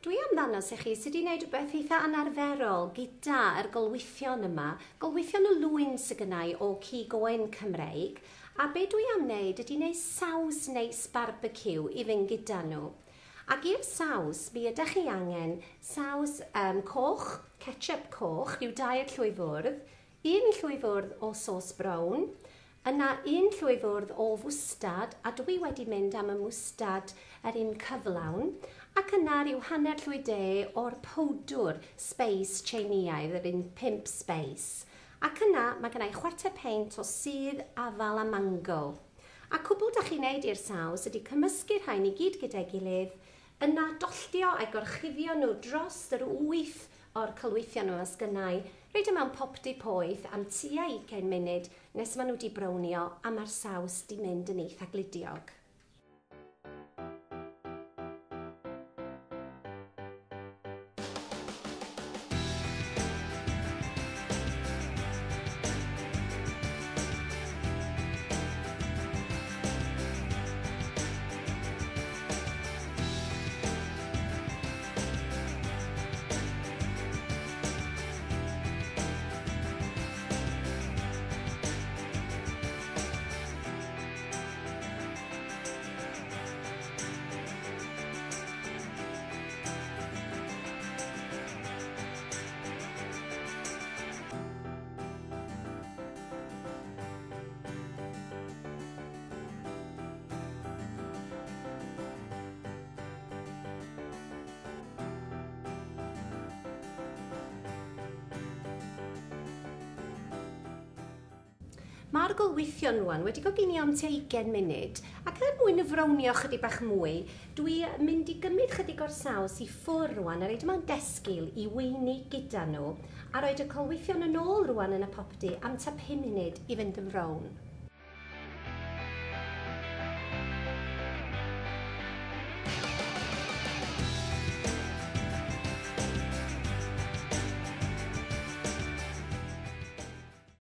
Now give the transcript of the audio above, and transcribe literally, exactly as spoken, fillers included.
Dwi am ddangos i chi sut i wneud rhywbeth eitha anarferol gyda'r golwythion yma. Golwythion y lwyn sydd gynna i o cig oen Cymreig. A be dwi am wneud ydy wneud saws neis barbeciw i fynd gyda nhw. Ac i'r saws, mi ydych chi angen saws um, coch, ketchup coch, rhyw dair llwy fwrdd, un llwy fwrdd o sos brown, yna un llwy fwrdd o fwstad, a dwi wedi mynd am y mwstad yr un cyflawn, ac yna rhyw hanner llwy de o'r powdwr spice Tsieineaidd, yr un pump spice. Ac yna mae gennau chwarter peint o sudd afal a mango. A cwbl da chi'n neud i'r saws ydy cymysgu'r rhain i gyd gyda'i gilydd, yna dolltio a'i gorchuddio nhw dros yr wyth o'r cylwythion yma sgynnau, rhoid e mewn popty poeth am tua ugain munud nes maen nhw wedi brownio a mae'r saws di mynd yn eitha gludiog. Mae'r golwythion rwan wedi goginio am tua ugain munud, ac er mwyn y frownio chydig bach mwy, dwi mynd i gymryd chydig o'r saws i ffwrdd rwan a roid mewn desgil i weini gyda nhw, a roid y colwythion yn ôl rwan yn y popty am tua pum munud i fynd yn frown.